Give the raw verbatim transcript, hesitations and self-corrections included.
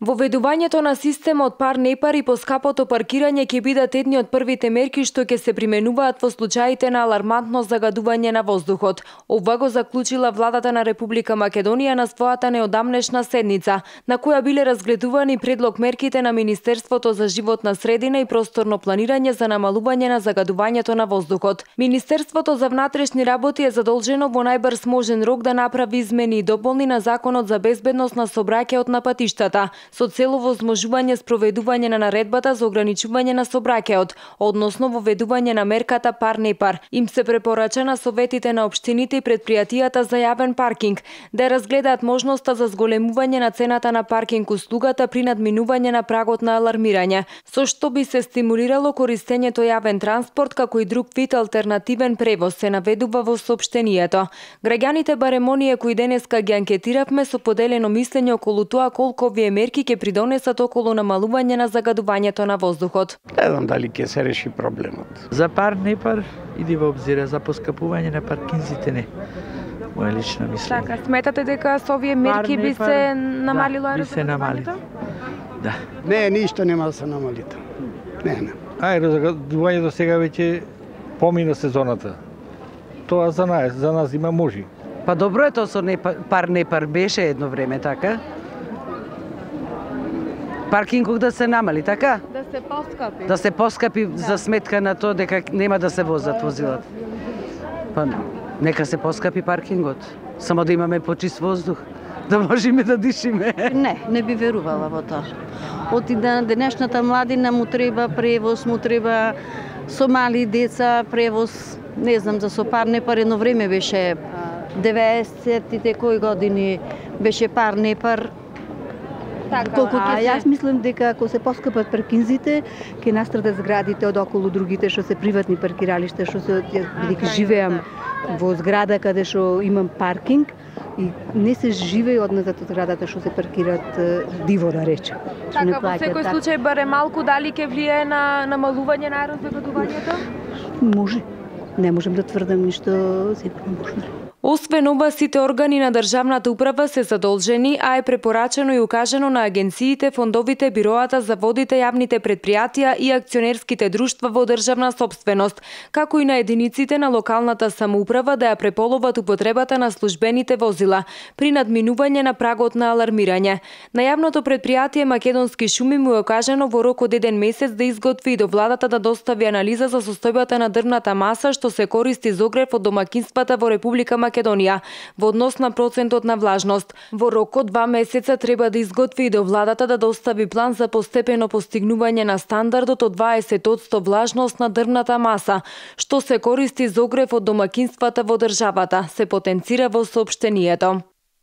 Воведувањето на системот пар-непар и поскапото паркирање ќе бидат едни од првите мерки што ќе се применуваат во случаите на алармантно загадување на воздухот. Ова го заклучила владата на Република Македонија на својата неодамнешна седница, на која биле разгледувани предлог мерките на Министерството за животна средина и просторно планирање за намалување на загадувањето на воздухот. Министерството за внатрешни работи е задолжено во најбрз можен рок да направи измени и дополни на Законот за безбедност на сообраќајот на патиштата, со цел овозможување спроведување на наредбата за ограничување на сообраќајот, односно воведување на мерката пар-непар. Им се препорача на советите на општините и предпријатијата за јавен паркинг да разгледаат можноста за зголемување на цената на паркинг услугата при надминување на прагот на алармирање, со што би се стимулирало користењето јавен транспорт како и друг вид алтернативен превоз, се наведува во соопштението. Граѓаните барем оние кои денеска ги анкетиравме со поделено мислење околу тоа колку овие мерки ќе придонесат околу намалување на загадувањето на воздухот. Не знам дали ќе се реши проблемот. За пар-непар иди во обзира, за поскапување на паркинзите не. Моја лична мислење. Така, сметате дека со овие мерки би се намалило да, би се намали. Да. Не, ништо нема да се намали. Не, не. Аерозагадувањето сега веќе помина сезоната. Тоа за нас, за нас има можи. Па добро е тоа со пар-непар беше едно време, така? Паркингот да се намали, така? Да се поскапи. Да се поскапи да. За сметка на тоа дека нема да се возат возилата. Па нека се поскапи паркингот, само да имаме почист воздух, да можеме да дишиме. Не, не би верувала во тоа. Од на денешната младина му треба превоз, му треба со мали деца превоз, не знам, за со пар-непар едно време беше деветдесетите кои години беше пар-непар. Така, Колку а јас мислам дека ако се поскапат паркинзите, ќе настрадат зградите од околу другите што се приватни паркиралишта, што се бидејќи живеам во зграда каде што имам паркинг и не се живее одназад од зградата што се паркираат диво да рече. Така, во секој случај баре малку дали ќе влијае на намалување на аерозагадувањето? Може. Не можам да тврдам ништо, сигурно може. Освен ова, сите органи на државната управа се задолжени, а е препорачено и укажано на агенциите, фондовите, бироата, заводите, јавните предпријатија и акционерските друштва во државна собственост, како и на единиците на локалната самоуправа да ја преполоват употребата на службените возила при надминување на прагот на алармирање. На јавното предпријатие Македонски шуми му е окажано во рок од еден месец да изготви и до владата да достави анализа за состојбата на дрвната маса што се користи за огрев од домакинствата во Република Македонија во однос на процентот на влажност. Во рок од два месеца треба да изготви и до владата да достави план за постепено постигнување на стандардот од дваесет одсто влажност на дрвната маса, што се користи за огрев од домакинствата во државата, се потенцира во соопштението.